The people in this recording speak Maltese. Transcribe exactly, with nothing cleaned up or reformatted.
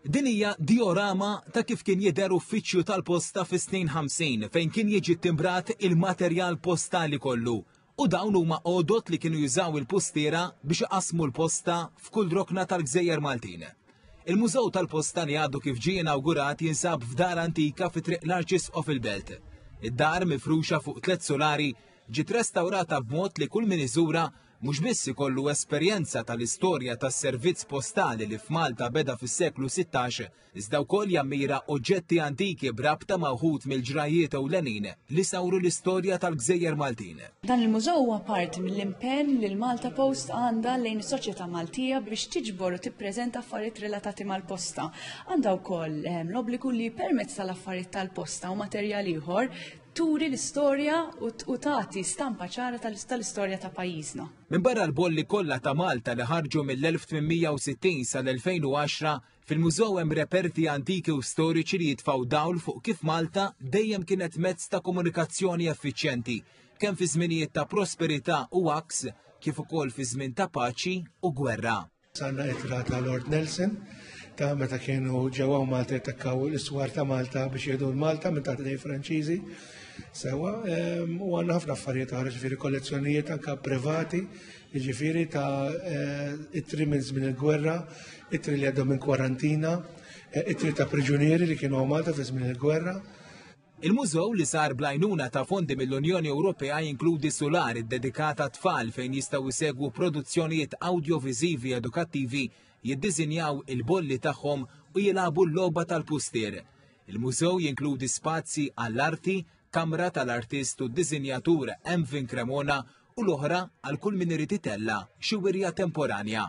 Din hija diorama ta' kif kien jidher uffiċċju tal-posta fis-snin ħamsin fejn kien jiġi timbrat il-materjal postali kollu. U dawn huma għodot li kienu jużaw il-postiera biex iqassmu l-posta f'kull rokna tal-Gżejjer Maltin. Il-Mużew tal-Posta li għadu kif ġie inawgurat jinsab f'dar antika fi Triq l-Arċisqof il-Belt. Id-dar mifruxa fuq tliet solari ġiet restawrata b'mod li kull min iżura mhux biss ikollu esperjenza tal-istorja tas-servizz postali li f'Malta beda fis-seklu sittax, iżda wkoll jammira oġġetti antiki b'rabta ma' wħud mill-ġrajiet ewlenin li sawru l-istorja tal-Gżejjer Maltin. Dan il-mużew huwa parti mill-impenn li l-Malta Post għandha lejn is-soċjetà Maltija biex tiġbor u tippreżenta affarijiet relatati mal-posta. Għandha wkoll l-obbligu li permezz tal-affarijiet tal-posta u materjal ieħor turi l-istorja u tagħti stampa ċara tal-istorja ta' pajjiżna. Minn barra l-bolli kollha ta' Malta li ħarġu mill-elf tmien mija u sittin sal-elfejn u għaxra, fil-mużew hemm reperti antiki u storiċi li jitfgħu dawl fuq kif Malta dejjem kienet mezz ta' komunikazzjoni effiċjenti, kemm fi żminijiet ta' prosperità u għaks, kif ukoll fi żmien ta' paċi u gwerra. Sanna ittra ta' Lord Nelson ta' meta kienu ġewwa Malta jattakkaw l-iswar ta' Malta biex jieħdu l-Malta minn taħt idej Franċiżi. Sewa, ehm, u għandna ħafna affarijiet oħra, ġifieri kollezzjonijiet anke privati, ġifieri ta' eh, ittri minn żmien il-gwerra, ittri li għaddew minn kwarantina, eh, ittri ta' priġunieri li kienu Malta fi żmien il-gwerra. Il-mużew li sar bl-għajnuna ta' fondi mill-Unjoni Ewropea jinkludi sular iddedikat għat-tfal fejn jistgħu jsegwu produzzjonijiet awdjoviżivi edukattivi, jiddisinjaw il-bolli tagħhom u jilagħbu l-logħba tal-pustier. Il-mużew jinkludi spazji għall-arti, kamra tal-artist u d-disinjatur Emvin Cremona u l-oħra għal kull min irid itella' xi wirja temporanja.